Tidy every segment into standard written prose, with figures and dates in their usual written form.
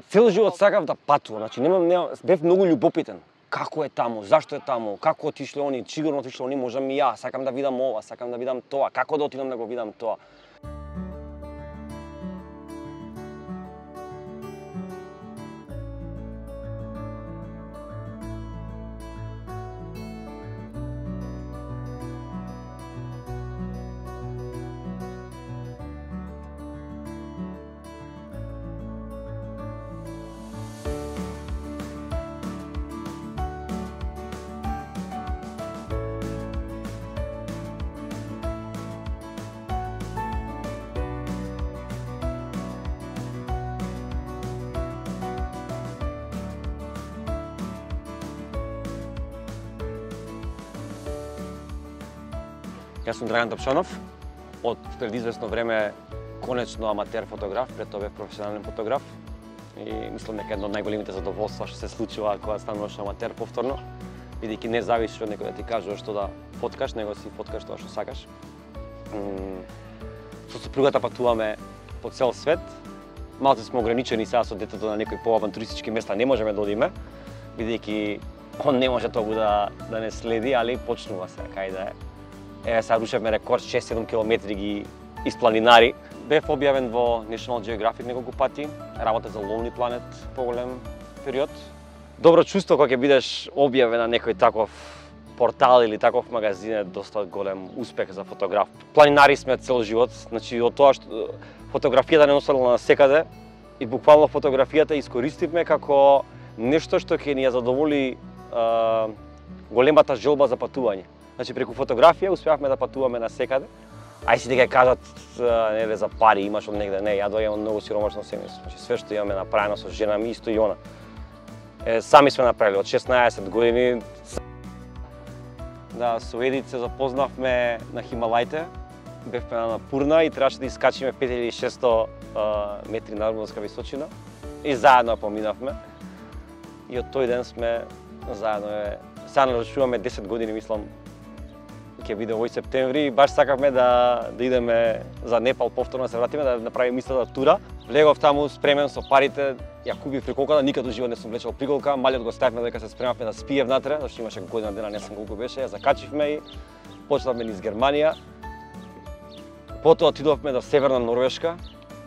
Цел живот сакав да патувам, значи бев многу љубопитен. Како е таму, зашто е таму, како отишле они, сигурно отишле они, можам и ја, сакам да видам ова, сакам да видам тоа, како да отидам да го видам тоа. Јас сум Драган Тапшанов, од пред известно време конечно аматер фотограф, пред тоа бев професионален фотограф и мислам дека едно од најголемите задоволства што се случува кога стануваш аматер повторно, бидејќи не зависиш од некој да ти кажува што да фоткаш, него си фоткаш тоа што сакаш. Со супругата патуваме по цел свет. Малку сме ограничени сега со детето на некои поавантуристички места не можеме да одиме, бидејќи он не може тогу да не следи, али почнува се кај да е. Еве сега рушевме рекорд 6-7 километри ги испланинари. Бев објавен во National Geographic неколку пати, работа за Lonely Planet поголем период. Добро чувство кога ќе бидеш објавен на некој таков портал или таков магазин е доста голем успех за фотограф. Планинари сме цел живот, значи од тоа што фотографијата не останала насекаде и буквално фотографијата искористивме како нешто што ќе ни ја задоволи големата желба за патување. Значи преку фотографија успеавме да патуваме насекаде. Ај си дека кажат нели за пари имаш од негде, не, ја доаѓам од многу сиромашно семејство. Значи све што имаме направено со жена ми исто и она. Сами сме направили од 16 години. Да, со Едит се запознавме на Хималаите. Бевме на Пурна и требаше да искачиме 5600 метри надморска височина и заедно поминавме. И од тој ден сме заедно. Сега навршуваме 10 години, мислам, ќе биде овој септември и баш сакавме да идеме за Непал повторно да се вратиме да направиме истата тура. Влегов таму спремен со парите, ја купив приколката, никаду живот не сум влечел приколка, малиот го ставивме дека се спремавме да спие внатре, зашто имаше година дена, не знам колку беше, ја закачивме и почнавме низ Германија. Потоа отидовме до северна Норвешка,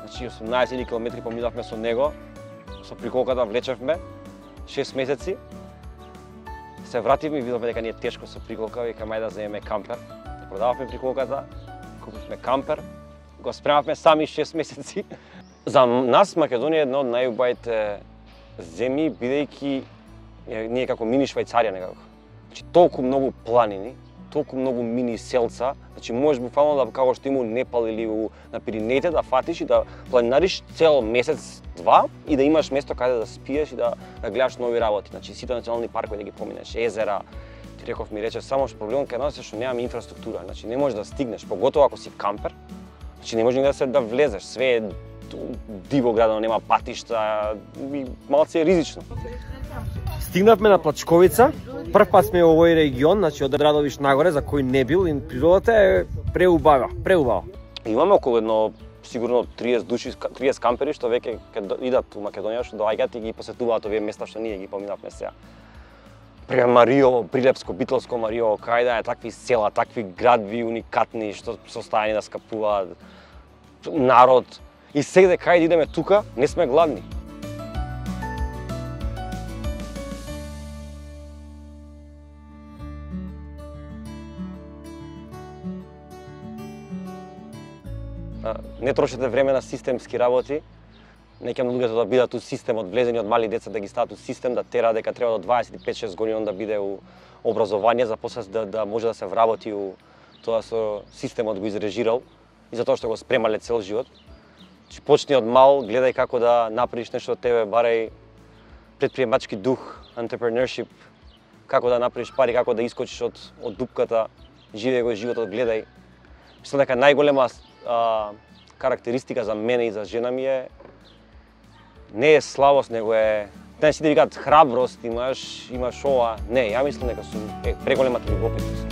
значи 18 километри поминавме со него, со приколката влечевме 6 месеци. Се вративме и видовме дека ни е тешко со приколка, викаме ајде да земеме кампер. Продававме приколката, купивме кампер, го спремавме сами 6 месеци. За нас Македонија е една од најубавите земји, бидејќи ние како мини Швајцарија некако. Значи толку многу планини, толку многу мини селца, значи можеш буквално да како што има у Непал или на Пиринеите да фатиш и да планинариш цел месец-два и да имаш место каде да спиеш и да гледаш нови работи. Значи сите национални паркови да ги поминеш, езера. Ти реков ми рече само што проблемот кај нас е што немаме инфраструктура, значи не можеш да стигнеш, поготово ако си кампер. Значи не можеш да влезеш, све е диво градено, нема патишта и малце е ризично. Стигнавме на Плачковица. Прв пат сме во овој регион, значи од Радовиш нагоре, за кој не бил, и природата е преубава. Имаме околу едно сигурно 30 души, 30 кампери што веќе идат у Македонија, што доаѓаат и ги посетуваат овие места што ние ги поминавме сега. Пример Мариово, Прилепско, Битолско, Мариово, кај да е такви села, такви градби уникатни што состојани да скапуваат народ. И сега кај да идеме тука, не сме гладни. Не трошете време на системски работи. Неќам луѓето да бидат у системот, влезени од мали деца да ги стават у систем, да тера дека треба до 25-6 години да биде у образование, за после да може да се вработи у тоа со системот го изрежирал и затоа што го спремале цел живот. Почни од мал, гледај како да направиш нешто од тебе, барај предприемачки дух, entrepreneurship, како да направиш пари, како да искочиш од дупката, живеј го животот, гледај. Мислам дека најголема карактеристика за мене и за жена ми е не е слабост, него е сите викаат храброст, имаш ова. Не, ја мислам дека сум преголемата љубопитност.